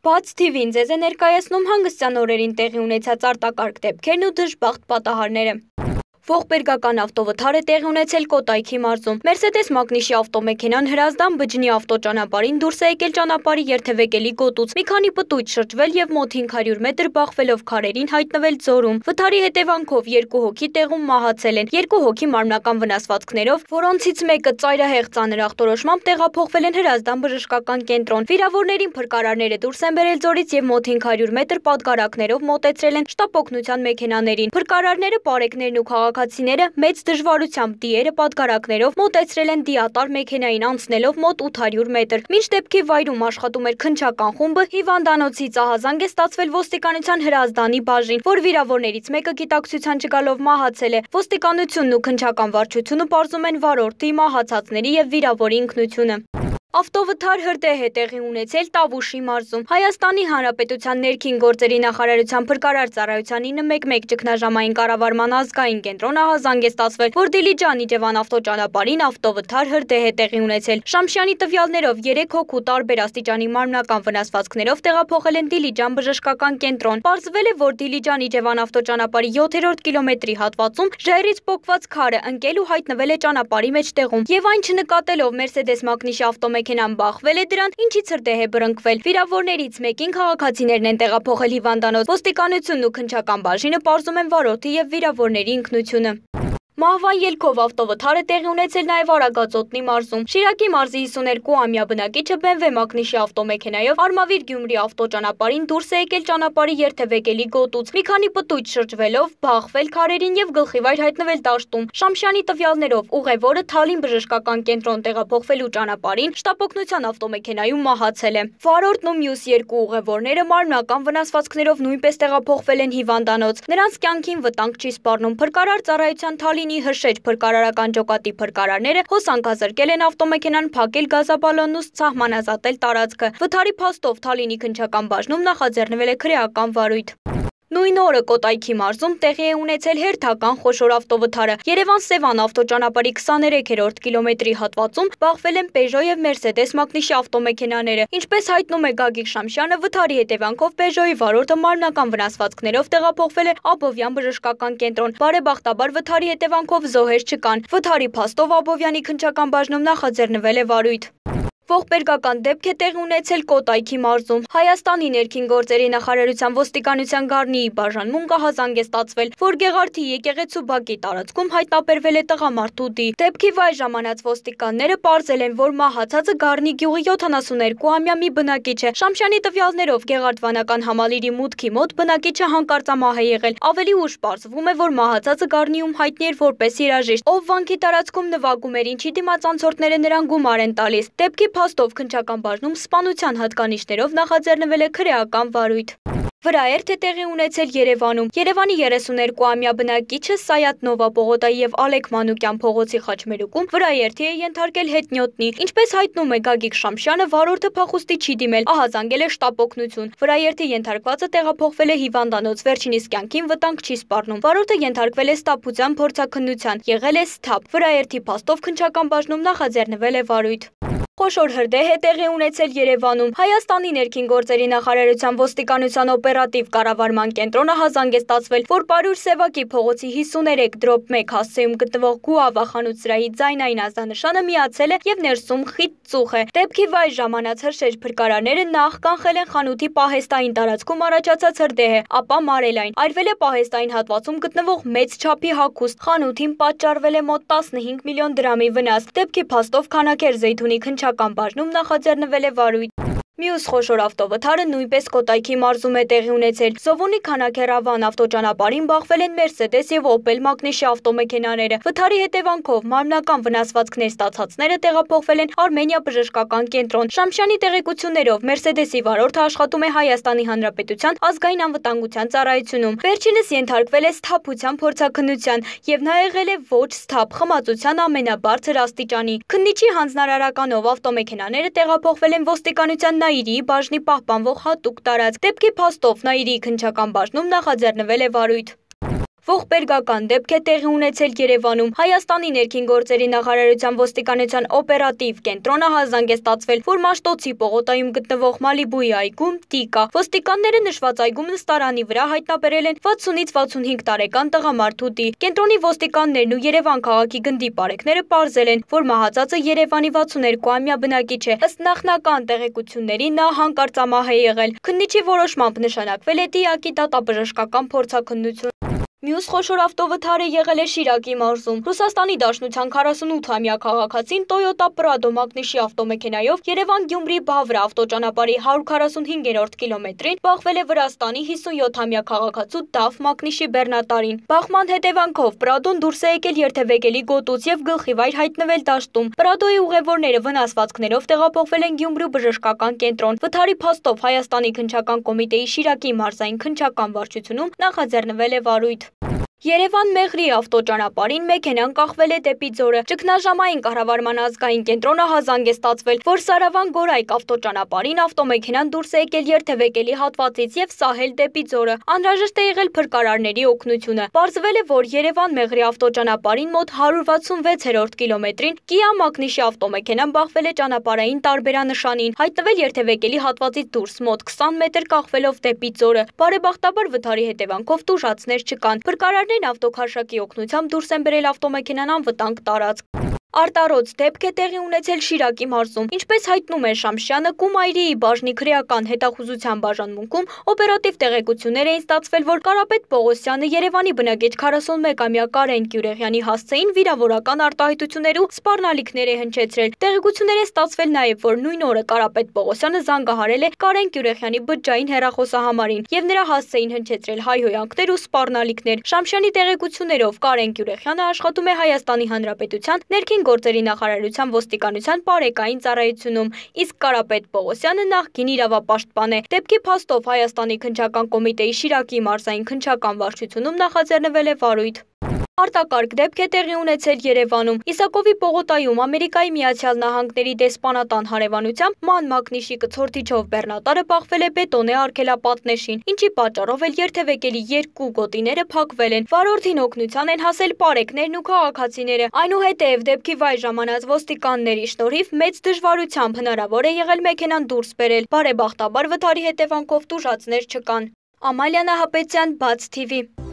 Բաց TV-ն ձեզ է ներկայացնում հանգստյան օրերին տեղի ունեցած արտակարգ դեպքերն ու դժբախտ պատահարները։ Ողբերգական ավտովթար է տեղի ունեցել Կոտայքի մարզում։ Մերսեդես Մակնիշի ավտոմեքենան Հրազդան Բջջնի ավտոճանապարհին դուրս է եկել ճանապարհի երթևեկելի գոտուց։ Մի քանի պտույտ շրջվել եւ մոտ 500 մետր բախվելով քարերին հայտնվել ձորում։ Վթարի հետևանքով 2 հոգի տեղում մահացել են, 2 հոգի մարմնական վնասվածքներով, որոնցից մեկը ծայրահեղ ծանր ախտորոշմամբ տեղափոխվել են Հրազդան բժշկական կենտրոն։ Վիրավորներին փրկարարները դուրս են բերել ձորից եւ մոտ 500 մետր պատգարակներով մոտեցրել են շտապ օգնության մեքենաներին։ Փրկարարները բարեկներն ու քաղաքացիները մեծ դժվարությամբ դիերը պատգարակներով մոտեցրել են դիատար մեքենային անցնելով մոտ 800 մետր։ Մինչ դեպքի վայրում աշխատում էր քննչական խումբը, հիվանդանոցից ահազանգ է ստացվել ոստիկանության Հրազդանի բաժին, որ վիրավորներից մեկը գիտակցության չգալով մահացել է։ Ոստիկանությունն ու քննչական վարչությունը պարզում են վարորդի, մահացածների եւ վիրավորի ինքնությունը։ Ավտովթար հրդեհ է տեղի ունեցել Տավուշի մարզում։ Հայաստանի Հանրապետության ներքին գործերի նախարարության փրկարար ծառայության 911 ճգնաժամային կառավարման ազգային կենտրոնը ահազանգ է ստացվել, որ Դիլիջան-Իջևան ավտոճանապարհին ավտովթար հրդեհ է տեղի ունեցել։ Շամշյանի տվյալներով 3 հոգու տարբեր աստիճանի մարմնական վնասվածքներով տեղափոխել են Դիլիջան բժշկական կենտրոն։ Պարզվել է, որ Դիլիջան-Իջևան ավտոճանապարհի 7-րդ կիլոմետրի հատվածում ժայռից պոկված քարը ընկել ու հայտնվել է ճանապարհի մեջտեղում, եւ այն չնկատելով Մերսեդես Մակնիշի ավտոմեքենան բախվել է դրան, ինչից հրդեհ է բռնկվել։ Վիրավորներից մեկին քաղաքացիներն են տեղափոխել հիվանդանոց։ Ոստիկանությունն ու քննչական բաժինը պարզում են վարորդի եւ վիրավորների ինքնությունը։ Մահվան ելքով ավտովթար է տեղի ունեցել նաև Արագածոտնի մարզում։ Շիրակի մարզի 52-ամյա բնակիչը BMW Մակնիշի ավտոմեքենայով Արմավիր Գյումրի ավտոճանապարհին դուրս է եկել ճանապարհի երթևեկելի գոտուց։ Մի քանի պտույտ շրջվելով բախվել քարերին եւ գլխիվայր հայտնվել դաշտում։ Շամշյանի տվյալներով ուղևորը Թալին բժշկական կենտրոն տեղափոխվելու ճանապարհին շտապօգնության ավտոմեքենայում մահացել է։ Վարորդն ու մյուս 2 ուղևորները մարմնական վնասվածքներով նույնպես տեղափոխվել են հիվանդանոց։ Նրանց կյանքին վտանգ չի սպառնում։ Փրկարար ծառայության Թալինի Հրշեջ փրկարարական ջոկատի փրկարարները հոսանքազրկել են ավտոմեքենան, փակել գազաբալոնն ու սահմանազատել տարածքը։ Վթարի փաստով Թալինի քննչական բաժնում նախաձեռնվել է քրեական վարույթ։ Նույն օրը Կոտայքի մարզում տեղի է ունեցել հերթական խոշոր ավտովթարը։ Երևան-Սևան ավտոճանապարհի 23-րդ կիլոմետրի հատվածում բախվել են Peugeot եւ Mercedes Մակնիշի ավտոմեքենաները։ Ինչպես հայտնում է Գագիկ Շամշյանը, վթարի հետևանքով Peugeot-ի վարորդը մարմնական վնասվածքներով տեղափոխվել է Աբովյան բժշկական կենտրոն։ Բարեբախտաբար վթարի հետևանքով զոհեր չկան։ Վթարի փաստով Աբովյանի քննչական բաժնում նախաձեռնվել է վարույթ։ Ողբերգական դեպք է տեղի ունեցել Կոտայքի մարզում։ Հայաստանի ներքին գործերի նախարարության ոստիկանության Գառնիի բաժանմունք ահազանգ է ստացվել, որ Գեղարդի եկեղեցու բակի տարածքում հայտնաբերվել է տղամարդու դի։ Դեպքի վայր ժամանած ոստիկանները պարզել են, որ մահացածը Գառնի գյուղի 72-ամյա մի բնակիչ է։ Շամշյանի տվյալներով Գեղարդ վանական համալիրի մուտքի մոտ բնակիչը հանկարծամահ է եղել։ Ավելի ուշ պարզվում է, որ մահացածը Գառնիում հայտնի էր որպես երաժիշտ, ով վանքի տարածքում նվագում էր, ինչի դիմաց անցորդները նրան գումար են տալիս։ Դեպքի փաստով քննչական բաժնում սպանության հատկանիշներով նախաձեռնվել է քրեական վարույթ։ Վրաերթ է տեղի ունեցել Երևանում։ Երևանի 32-ամյա բնակիչը Սայաթ Նովա պողոտայի եւ Ալեք Մանուկյան փողոցի խաչմերուկում վրաերթի է ենթարկել հետնյոտնի։ Ինչպես հայտնում է Գագիկ Շամշյանը, վարորդը փախուստի չի դիմել, ահազանգել է շտապ օգնություն։ Վրաերթի ենթարկվածը տեղափոխվել է հիվանդանոց, վերջինիս կյանքին վտանգ չի սպառնում։ Վարորդը ենթարկվել է ստապության փորձաքննության, եղել է սթափ։ Վրաերթի փաստով քննչական բաժնում նախաձեռնվել է վարույթ։ Խոշոր հրդեհ է տեղի ունեցել Երևանում։ Հայաստանի ներքին գործերի նախարարության ոստիկանության օպերատիվ կառավարման կենտրոնը ահազանգ է ստացվել, որ Պարուր Սևակի փողոցի 53/1 հասցեում գտնվող Գուավա խանութսրահի ձայնային ազդանշանը միացել է եւ ներսում խիտ ծուխ է։ Դեպքի վայր ժամանած Հրշեջ փրկարարները նախ կանխել են խանութի պահեստային տարածքում առաջացած հրդեհը, ապա մարել այն։ Արվել է պահեստային հատվածում գտնվող մեծ չափի հագուստ։ Խանութին պատճառվել է մոտ 15 միլիոն դրամի վնաս։ Դեպքի փաստով Քանաքեր Զեյթունի քննչական բաժնում նախաձեռնվել է վարույթ։ Մյուս խոշոր ավտովթարը նույնպես Կոտայքի մարզում է տեղի ունեցել։ Զովունի Քանաքեր-Ավան ավտոճանապարհին բախվել են Mercedes եւ Opel Մակնիշի ավտոմեքենաները։ Վթարի հետևանքով մարմնական վնասվածքներ ստացածները տեղափոխվել են Արմենիա բժշկական կենտրոն։ Շամշյանի տեղեկություններով Mercedes-ի վարորդը աշխատում է Հայաստանի Հանրապետության ազգային անվտանգության ծառայությունում։ Վերջինս ենթարկվել է սթափության փորձաքննության եւ նա եղել է ոչ սթափ խմածության ամենաբարձր աստիճանի։ Քննիչի հանձնարարականով ավտոմեքենաները տեղափոխվել են ոստիկանության Նաիրիի բաժնի պահպանվող հատուկ տարածք։ Դեպքի փաստով Նաիրիի քննչական բաժնում նախաձեռնվել է վարույթ։ Ողբերգական դեպք է տեղի ունեցել Երևանում։ Հայաստանի ներքին գործերի նախարարության ոստիկանության օպերատիվ կենտրոնը հազանգեստացվել, որ Մաշտոցի պողոտայում գտնվող Մալիբուի այգում տիկա։ Ոստիկանները նշված այգում նստարանի վրա հայտնաբերել են 60-ից 65 տարեկան տղամարդու տի։ Կենտրոնի ոստիկաններն ու Երևան քաղաքի գնդի պարեկները պարզել են, որ մահացածը Երևանի 62-ամյա բնակիչ է։ Ըստ նախնական տեղեկությունների նա հանկարծամահ է եղել։ Քննիչի որոշմամբ նշանակվել է դիակի դատաբժշկական փորձաքննություն։ Մյուս խոշոր ավտովթարը եղել է Շիրակի մարզում։ Ռուսաստանի Դաշնության 48-ամյա քաղաքացին Toyota Prado մակնիշի ավտոմեքենայով Երևան-Գյումրի Բավրա ավտոճանապարհի 145-րդ կիլոմետրին բախվել է Վրաստանի 57-ամյա քաղաքացու Դավ մակնիշի բեռնատարին։ Բախման հետևանքով Պրադոն դուրս է եկել երթևեկելի գոտուց եւ գլխիվայր հայտնվել դաշտում։ Պրադոյի ուղևորները վնասվածքներով տեղափոխվել են Գյումրու բժշկական կենտրոն։ Վթարի փաստով Հայաստանի քննչական կոմիտեի Շիրակի մարզային քննչական վարչությունում նախաձեռնվել է վարույթ։ Երևան-Մեղրի ավտոճանապարհին մեքենան կախվել է դեպի Ձորը։ Ճգնաժամային կառավարման ազգային կենտրոնը հազանգեստացվել, որ Սարավան-Գորայք ավտոճանապարհին ավտոմեքենան դուրս է եկել երթևեկելի հատվածից եւ սահել դեպի Ձորը։ Անհրաժեշտ է եղել փրկարարների օգնությունը։ Պարզվել է, որ Երևան-Մեղրի ավտոճանապարհին մոտ 166-րդ կիլոմետրին Kia մակնիշի ավտոմեքենան բախվել է ճանապարհային տարբերանշանին, հայտնվել երթևեկելի հատվածից դուրս մոտ 20 մետր կախվելով դեպի Ձորը։ Բարեբախտաբար վթարի հետևանքով տուժածներ չկան։ Փրկարարներն ավտոքարշակի օգնությամբ դուրս են բերել ավտոմեքենան անվտանգ տարածք։ Արտարոց դեպք է տեղի ունեցել Շիրակի մարզում։ Ինչպես հայտնում է Շամշյանը, Կումայրիի բաժնի քրեական հետախուզության բաժանմունքում օպերատիվ տեղեկություններ էին ստացվել, որ Կարապետ Պողոսյանը Երևանի բնակիչ 41-ամյա Կարեն Գյուրեղյանի հասցեին վիրավորական արտահայտություններ ու սպառնալիքներ է հնչեցրել։ Տեղեկություններ են ստացվել նաև, որ նույն օրը Կարապետ Պողոսյանը զանգահարել է Կարեն Գյուրեղյանի բջջային հեռախոսահամարին եւ նրա հասցեին հնչեցրել հայհոյանքներ ու սպառնալիքներ։ Շամշյանի տեղեկություններով Կարեն Գյուրեղյանը աշխատում է Հայաստանի Հանրապետության ներքին գործերի նախարարության ոստիկանության պարեկային ծառայությունում, իսկ Կարապետ Պողոսյանը նախկին իրավապաշտպան է։ Դեպքի փաստով Հայաստանի քննչական կոմիտեի Շիրակի մարզային քննչական վարչությունում նախաձեռնվել է վարույթ։ Արտակարգ դեպք է տեղի ունեցել Երևանում։ Իսակովի պողոտայում Ամերիկայի Միացյալ Նահանգների դեսպանատան հարևանությամբ ման մակնիշի կցորդիչով բեռնատարը բախվել է բետոնե արգելապատնեշին, ինչի պատճառով էլ երթևեկելի երկու գոտիները փակվել են։ Վարորդին օգնության են հասել պարեկներն ու քաղաքացիները։ Այնուհետև դեպքի վայր ժամանած ոստիկանների շնորհիվ մեծ դժվարությամբ հնարավոր է եղել մեքենան դուրս բերել։ Բարեբախտաբար վթարի հետևանքով տուժածներ չկան։ Ամալիա Նահապետյան, Բաց TV։